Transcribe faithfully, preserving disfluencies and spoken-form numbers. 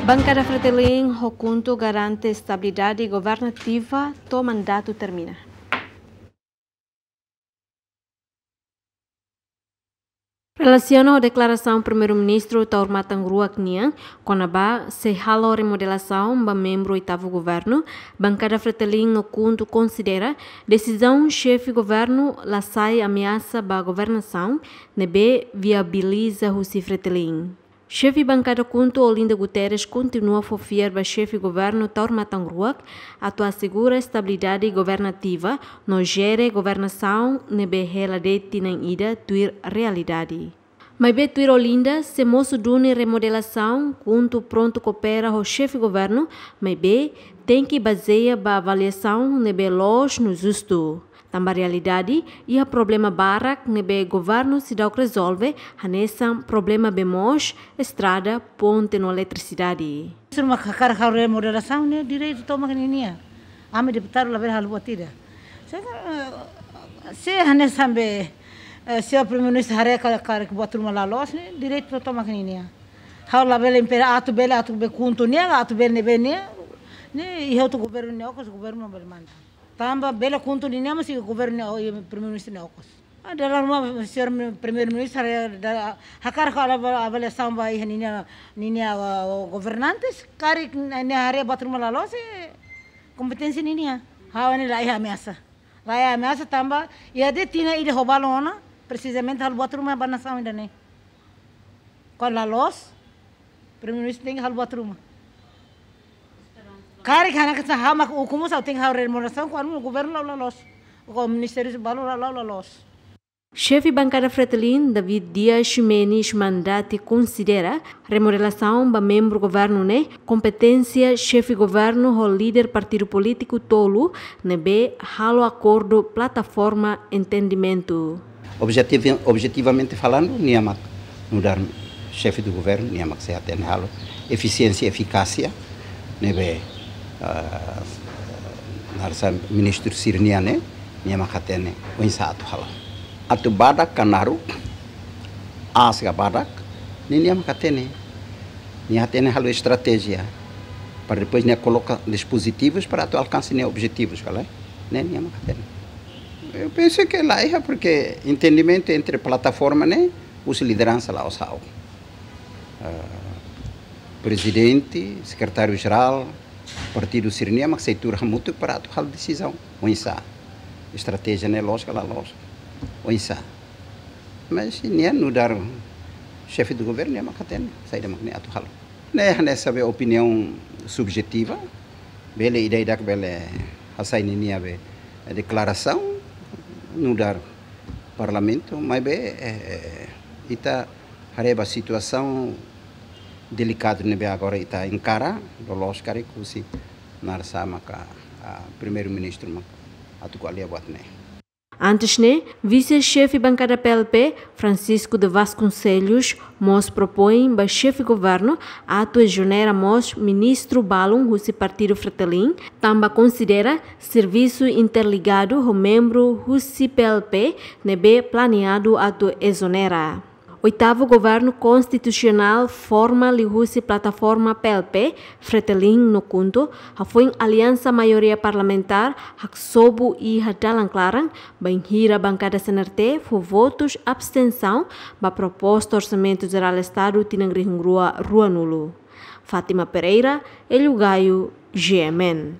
Bankada Fretilin ho KHUNTO garante estabilidade governativa to'o mandatu termina. Relasiona ho deklarasaun Primeiru-Ministru Taur Matan Ruak nian kona-ba sei halo remodelasaun ba membru oitavu governu, Bankada Fretilin no KHUNTO konsidera desizaun xefe governu la sai ameasa ba governasaun, ne'ebé viabiliza husi Fretilin. Xefe Bankada KHUNTO Olinda Guterres kontinua fó fiar ba xefe governu Taur Matan Ruak atu asegura estabilidade governativa no jere governasaun ne'ebé hela de'it tinan ida tuir realidade. Maibé tuir Olinda, se mosu duni remodelasaun, KHUNTO prontu koopera ho xefe governu, maibé tenke bazeia ba avaliasaun ne'ebé loos no justu. Tanba realidade, iha problema barak ne'ebé governu seidauk rezolve, hanesan problema bee moos, estrada, ponte no eletrisidade. Se mak hakarak halo remodelasaun ne'e direitu tomak ninia. Ami deputadu labele halo buat ida. Se, eh, se hanesan be, eh, señór Primeiru-Ministru haree ka, karik buat ruma la loos ne'e direitu tomak ninia. Ha'u labele impede atu bele, atu be KHUNTO nian, atu bele ne'ebé nian. Ne'e iha outru governu nia okos, governu bele manda. Tanba bele KHUNTO ninia, mas iha governu nia, iha Primeiru-Ministru nia okos. Ah, dala ruma señór Primeiru-Ministru haree, dala, hakarak halo ava-, avaliasaun ba iha ninia, ninia, ah, governantes, karik nia haree buat ruma la loos, eh, kompeténsia ninia. Ha'u ne'e la iha ameasa. La iha ameasa tanba, iha de'it tinan ida ho balun ona, presizamente halo buat ruma ba nasaun ida-ne'e. Kuandu la loos, Primeiru-Ministru tenke halo buat ruma. Karik hanesan ha'u mak ukun mós ha'u tenke halo remodelasaun, kuandu governu la'o la loos. Kuandu ministériu balun la'o, la'o la loos. Xefe Bankada Fretilin, David Dias Ximenes Mandati konsidera remodelasaun ba membru governu ne'e kompeténsia xefe governu ho líder partidu polítiku tolu ne'ebé halo akordu plataforma entendimentu. Objetivi-, objetivamente falando, nia mak nu'udar xefe do governu, nia mak sei hatene halo efisiénsia, efikásia, ne'ebé, ah, naran sá ministru sira-nian ne'e, nia mak hatene oinsá atu halo. Atu badak ka naruk, aas ka badak, ne'e nia mak hatene. Nia hatene halo estratéjia, para depois nia koloka dispozitivus para atu alkansa nia objetivus, kala? Ne'e nia mak hatene. Eu penso que la iha, porque entendimentu entre plataforma ne'e, husi lideransa la'ós ha'u. Ah, prezidente, sekretáriu-jerál, partidu sira-nian mak sei tuur hamutuk para atu halo desizaun. Oinsá? Estratéjia ne'e loos ka la loos? Oinsá? Mas nia nu'udar xefe do governu, nia mak hatene saida mak nia atu halo. Ne'e hanesan be opiniaun subjetiva, bele ida-idak bele hasai ninia be deklarasaun nu'udar parlamentu, maibé, eh, eh, ita haree ba situasaun delikadu ne'ebé agora ita enkara, loloos karik husi naran sá maka, ah, Primeiru-Ministru maka atu ko'alia buat ne'e. Antes ne'e, vise-xefe bankada P L P, Francisco de Vasconcelos, mós propoin ba xefe governu atu ezonera mós ministru balun husi partidu Fretilin, tanba konsidera servisu interligadu ho membru husi P L P ne'ebé planeadu atu ezonera. Oitavu Governu Konstitusionál forma liuhusi plataforma P L P, Fretilin no KHUNTO, hafoin aliansa maioria parlamentár haksobu iha dalan klaran, bainhira bankada C N R T fó votus abstensaun ba proposta Orsamentu Jerál Estadu tinan rihun rua ruanulu. Fátima Pereira, Hélio Gaio, G M N.